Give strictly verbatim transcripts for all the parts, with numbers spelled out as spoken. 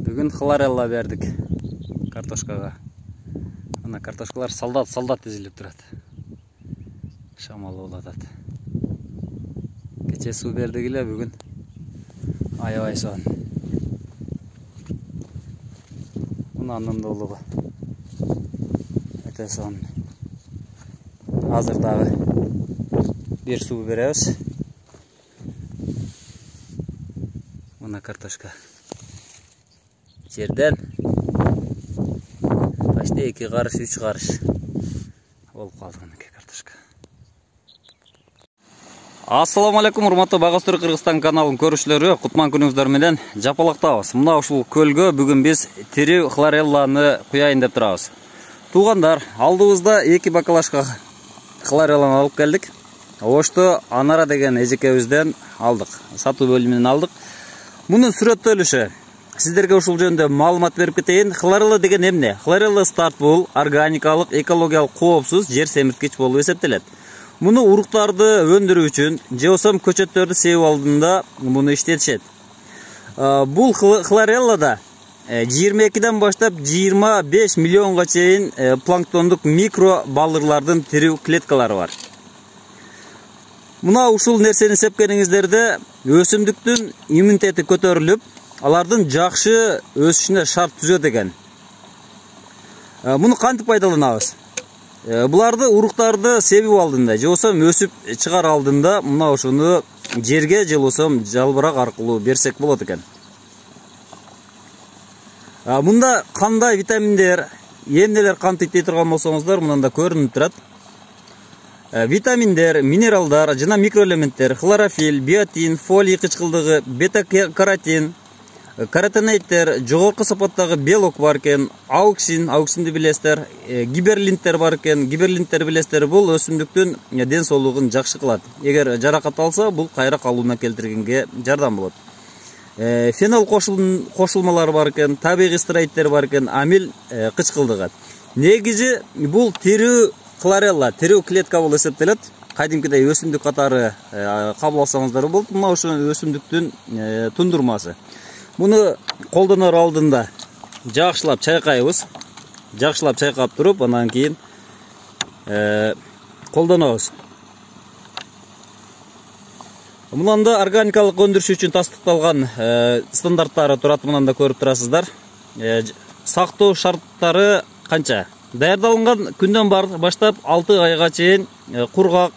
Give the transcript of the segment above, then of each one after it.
Бүгүн хлорелла бердик картошкага. Ана картошкалар солдат солдат тизилип турат. Шамал болуп атат. Кече суу бердик эле, бүгүн аябай соон. Мунун долугу. Өтө соон. Азыр дагы бир суу беребиз. Мына картошка. Жерден почти эки карыш, үч карыш болуп калды мынакей картошка. Ассаламу алейкум, урматтуу Багастыры Кыргызстан каналынын көрүүчүлөрү, кутман күнүңүздөр менен жапалактабыз. Мына ушул көлгө бүгүн биз тирүү хлорелланы куяйын деп турабыз. Туугандар, алдыбызда эки бакалашка хлорелланы алып келдик. Ошто Анара деген эжекебизден алдык. Сатуу бөлүмүнөн алдык. Мунун сүрөттөлүшү сиздерге ушул жөнүндө маалымат берип кетейин. Хлорелла деген эмне? Хлорелла старт бул органикалык, экологиялык коопсуз жер семирткич болуп эсептелет. Муну уруктарды өндүрүү үчүн же болбосо көчөттөрдү себип алдында муну иштетишет. Бул хлореллада жыйырма экиден баштап жыйырма беш миллионго чейин планктондук микро балырлардын тирүү клеткалары бар. Мына ушул нерсени сепкениңиздерде өсүмдүктүн иммунитети көтөрүлүп, алардын жакшы өсүшүнө шарт түзөт экен. Муну кантип пайдаланабыз? Буларды уруктарды себип алдында, же болбосо өсүп чыгар алдында мына ошону жерге же болбосо жалбырак аркылуу берсек болот экен. Мында кандай витаминдер, эмнелер камтыйт дей турган болсоңуздар, мында көрүнүп турат. Витаминдер, минералдар жана микроэлементтер, хлорофилл, биотин, фолий кычкылдыгы, бета-каротин, каротиноидтер, жогорку сапаттагы белок бар экен, ауксин, ауксинди билесиздер, гиберлинттер бар экен. Гиберлинттер билесиздер, бул өсүмдүктүн ден соолугун жакшы кылат. Эгер жаракат алса, бул кайра калууна келтиргенге жардам болот. Фенол кошулмалары бар экен, табигый стероидтер бар экен, амил кычкылдыгы. Негизи бул тирүү хлорелла, тирүү клетка болуп эсептелет. Кадимкидей өсүмдүк катары кабыл алсаңыздар болот. Мына ошо өсүмдүктүн тундурмасы. Муну колдонор алдында жакшылап чайкайбыз. Жакшылап чайкап туруп, анан кийин колдонобуз. Мунанда органикалык өндүрүш үчүн тастыкталган стандарттары турат, мынанда көрүп турасыздар. Сактоо шарттары канча? Даярдалган күндөн баштап алты айга чейин кургак,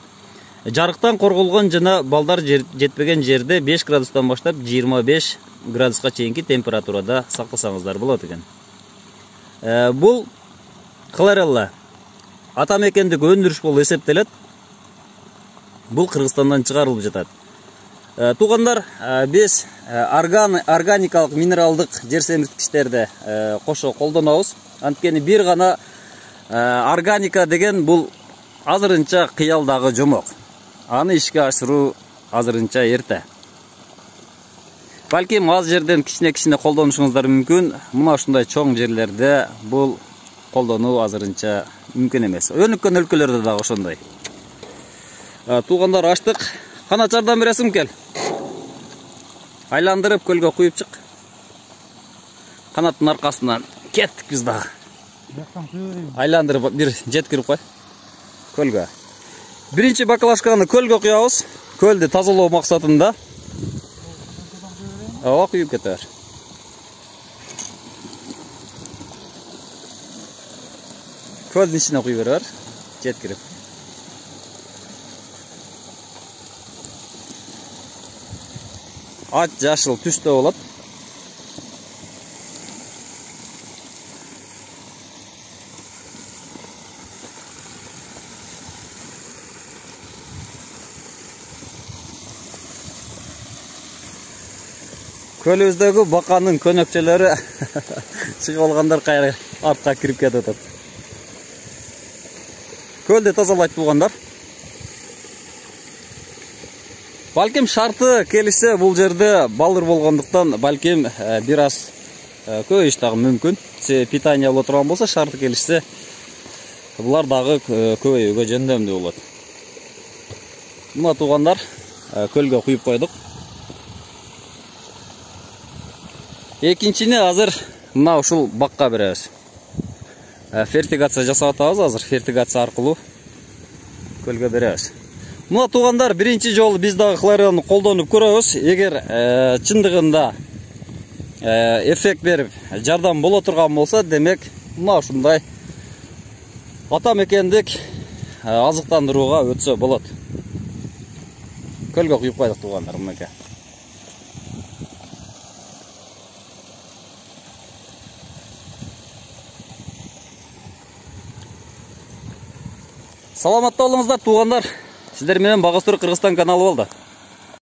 жарыктан корголгон жана балдар жетпеген жерде беш градустан баштап жыйырма беш градуска чейинки температурада сактасаңыздар болот экен. Бул хлорелла атамекендик өндүрүш болуп эсептелет. Бул Кыргызстандан чыгарылып жатат. Туугандар, биз органикалык минералдык жер семирткичтерди кошо колдонобуз. Анткени бир гана органика деген бул азырынча кыялдагы жомок. Аны ишке ашыруу азырынча эрте. Балким аз жерден кичине-кичине колдонушуңуздар мүмкүн. Мына ушундай чоң жерлерде бул колдонуу азырынча мүмкүн эмес. Өнүккөн өлкөлөрдө дагы ошондой. Туугандар, ачтык. Канат жардам бересиң, кел. Айландырып көлгө куюп чык. Канаттын аркасынан кеттик биз дагы. Айландырып бир жеткирип кой көлгө. Биринчи бакалашканы көлгө куябыз. Көлдү тазалоо максатында. Ооба, куюп кете бер. Көлдүн ичине куюп бере бер. Жеткирип. Ат жашыл түстө болот. Көлүбүздөгү баканын көнөкчөлөрү чыгып алгандар кайра артка кирип кетип атат. Көлдү тазалайт туугандар. Балким шарты келишсе, бул жерде балыр болгондуктан балким бир аз көбөйүш дагы мүмкүн. Питание боло турган болсо, шарты келишсе, булар дагы көбөйүүгө жөндөмдүү болот. Мына туугандар, көлгө куюп койдук. Экинчини азыр мына ушул бакка беребиз. Фертигация жасап атабыз азыр. Фертигация аркылуу көлгө беребиз. Мына туугандар, биринчи жолу биз дагы хлорелланы колдонуп көрөбүз. Эгер чындыгында эффект берип жардам боло турган болсо, демек мына ушундай ата мекендик азыктандырууга өтсө болот. Көлгө куюп койдук туугандар, мынакей. Саламатта болуңуздар туугандар. Сиздер менен Багастыр Кыргызстан каналы болду.